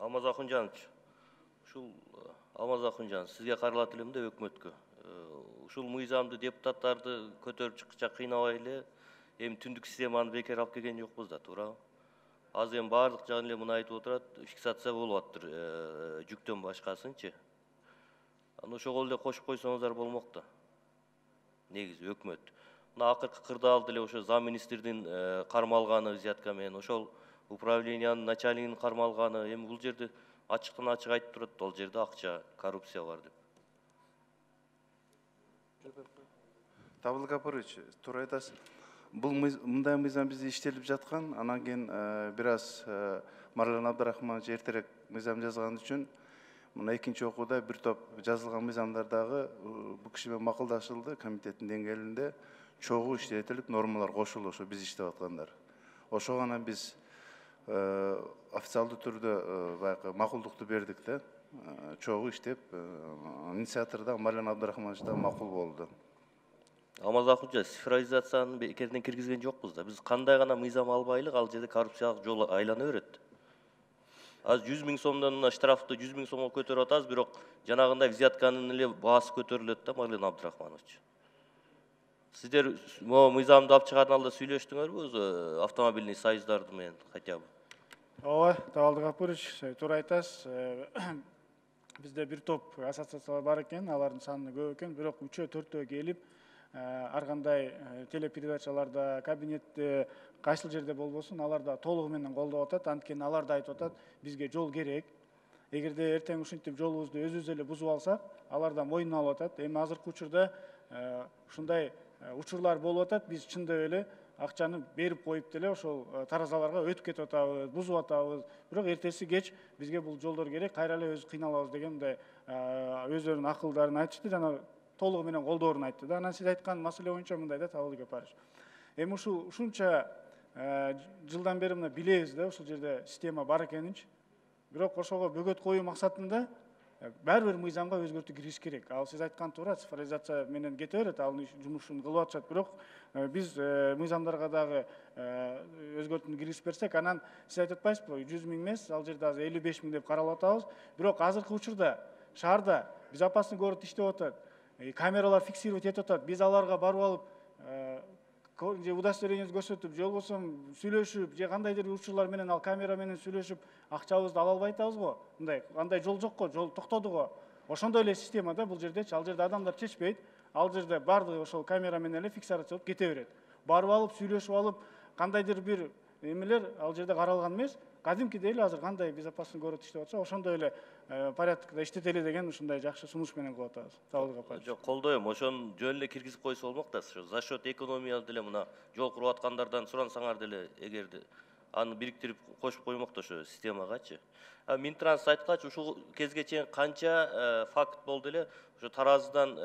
Алмаз Акунжанович, ушул Алмаз Акунжанов сизге каралат элем да өкмөткө. Ушул мыйзамды депутаттарды көтөрүп чыккыча кыйнабай эле эми түндүк системаны бекер алып келген жокпуз да, туурабы? Азыр эми баардык жагын эле мына айтып отурат, фиксация болуп атыптыр, жүктөн башкасынчы. Аны ошого эле кошуп койсоңуздар болмок да. Негизи өкмөт. Мына акыркы кырдаалды эле ошо зам министрдин кармалганы взятка менен, ошол управлениянын начальнигинин кармалганы, эми бул жерде ачыктан ачык айтып турат, ал жерде акча, коррупция бар деп. Табыл Гапарович, туура айтасыз. Бул мындай мыйзам бизде иштелип жаткан, анан кийин бир аз Марлен Абдрахманович эртерээк мыйзам жазган үчүн мына экинчи окууда бир топ жазылган мыйзамдар дагы бул киши менен макулдашылды, комитеттин деңгээлинде чогуу иштетилип, нормалар кошулду, ошо биз иштеп аткандар. Ошого анан биз официалдуу түрдө баягы макулдукту бердик да. Чогуу иштеп, инициатор да Марлен Абдрахманович да макул болду. Алмаз Акунжа, цифровизацияны бекерден киргизген жокпуз да. Биз кандай гана мыйзам албайлык, ал жерде коррупциялык жол айлана берет. Азыр 100 000 сомдон мына штрафты 100 000 сомго көтөрүп атабыз, бирок жанагындай взятканын эле баасы көтөрүлөт да, Марлен Абдрахманович. Сиздер могу мыйзамды алып чыгардын алдында сүйлөштүңөрбү өзү автомобильный союздарды менен хотя бы? Ооба, Табалдык Гапарович, туура айтасыз. Бизде бир топ ассоциациялар бар экен, алардын саны көп экен, бирок 3-4 келип, ар кандай телепередачаларда, кабинетте, кайсыл жерде болбосун, аларда толугу менен колдоп атат. Анткени алар да айтып атат, бизге жол керек. Эгерде эртең ушинтип жолубузду өзүбүз эле бузуп алсак, алар да мойнуна алып атат. Эми азыркы учурда ушундай учурлар болуп атат, биз чындап эле акчаны берип коюп деле ошол таразаларга өтүп кетип атабыз, бузуп атабыз. Бирок эртеси кеч бизге бул жолдор керек, кайра эле өзү кыйналабыз деген мындай өздөрүнүн акылдарын айтышты жана толугу менен колдоорун айтты да. Анан сиз айткан маселе боюнча мындай да, Табалдык Гапарович. Эми ушунча жылдан бери мына билебиз да, ушул жерде система бар экенинчи. Бирок ошого бөгөт коюу максатында бир мыйзамга өзгөртүү киргизиш керек. Ал сиз айткан туура, цифровизация менен кете берет, ал жумушун кылып атышат. Бирок биз мыйзамдарга дагы өзгөртүүнү киргизип берсек, анан сиз айтып атпайсызбы, 100 000 эмес, ал жерде азыр 55 000 деп каралып атабыз. Бирок азыркы учурда шаарда безопасный город иштеп атат, камералар фиксировать этип атат. Биз аларга барып алып, же удостоверениеңизди көрсөтүп, же болбосо сүйлөшүп, же кандайдыр учурлар менен ал камера менен сүйлөшүп, акчабызды ала албай атабыз го. Мындай андай жол жок го, жол токтоду го. Ошондой эле система да бул жердечи. Ал жерде адамдар чечпейт. Ал жерде бардыгы ошол камера менен эле фиксация болуп кете берет. Барып алып, сүйлөшүп алып, кандайдыр бир эмелер ал жерде каралган эмес. Кадимкидей эле азыр кандай безопасный город иштеп атса, ошондой эле порядокто иштетели деген ушундай жакшы сунуш менен кылып атабыз. Табалдык Гапарович. Жок, колдойм. Ошону жөн эле киргизип койсо болмок да. За счет экономия деле мына жол куруп аткандардан сурансаңар деле, эгерде аны бириктирип кошуп коймок да ошо системагачы. Минтранс айткачы, ушул кезге чейин канча факт болду эле, ошо таразыдан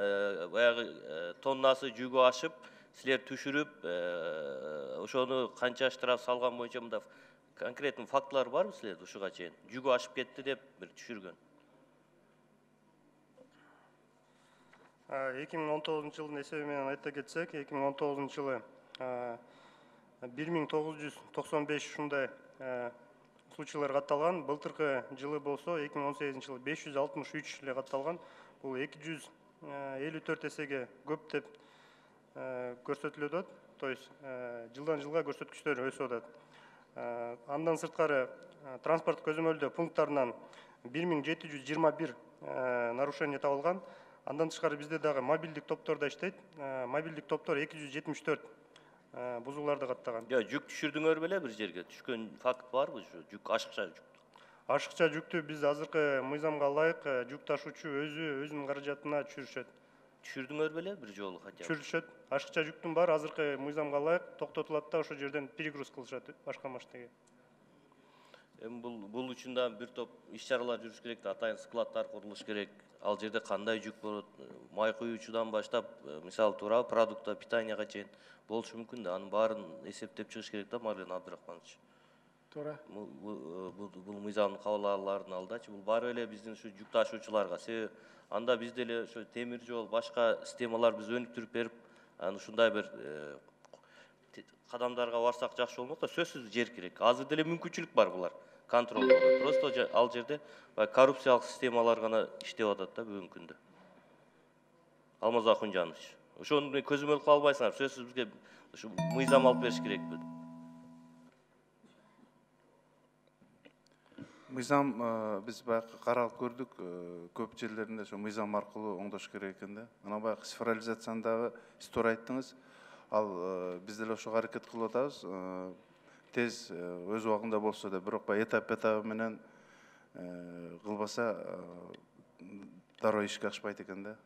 баягы тоннасы жүгү ашып, силер түшүрүп, ошону канча штраф салган боюнча мында конкретный фактылар барбы силерде ушуга чейин? Жүгү ашып кетти деп бир түшүргөн. 2019 жылдын эсеби менен айта кетсек, 2019 жылы 1995 ушундай случайлар катталган. Былтыркы жылы болсо 2018 жылы 563 эле катталган. Бул 254 эсеге көп деп көрсөтүлүп атат. То есть жылдан жылга көрсөткүчтөр өсүп атат. Андан сырткары транспорт көзөмөлдөө пункттарынан 1721 нарушение табылган. Андан тышкары бизде дагы мобилдик топтор да иштейт. Мобилдик топтор 274 бузууларды каттаган. Жүк түшүрдүңөр беле бир жерге? Түшкөн факт барбы? Жүк ашыкча жүк. Ашыкча жүктү биз азыркы мыйзамга ылайык жүк ташуучу өзүнүн каражатына түшүрүшөт. Түшүрдүңөр беле бир жолу хотя бы? Түшүрүшөт. Ашыкча жүктүн баары азыркы мыйзамга ылайык токтотулат да ошол жерден перегруз кылышат башка машинеге. Эми бул үчүн да бир топ иш-чаралар жүрүш керек да, атайын складдар курулуш керек. Ал жерде кандай жүк болот? Май куюучудан баштап, мисалы туурабы, продукта, питанияга чейин болушу мүмкүн да. Анын баарын эсептеп чыгыш керек да, Марлен Абдрахманович. Туура. Бул мыйзамдын кабыл алуулардын алдачы, бул баары эле биздин ушу жүк ташуучуларга. Себеби анда бизде эле ошо темир жол, башка системалар биз өнүктүрүп берип, анан ушундай бир кадамдарга барсак жакшы болмок да, сөзсүз жер керек. Азыр деле мүмкүнчүлүк бар булар. контроль болот. Просто ал жерде коррупциялык системалар гана иштеп атат да бүгүнкү күндө. Алмаз Акунжанович, ошону көзөмөл кыла албайсыңар. Сөзсүз бизге ушу мыйзам алып бериш керекпи? Мыйзам биз баягы каралып көрдүк, көп жерлеринде ошо мыйзам аркылуу оңдош керек экен да. Анан баягы цифрализацияны дагы сиз туура айттыңыз. Ал биз деле ошого аракет кылып атабыз. Тез өз убагында болсо да, бирок баягы этап менен кылбаса дароо ишке ашпайт экен да.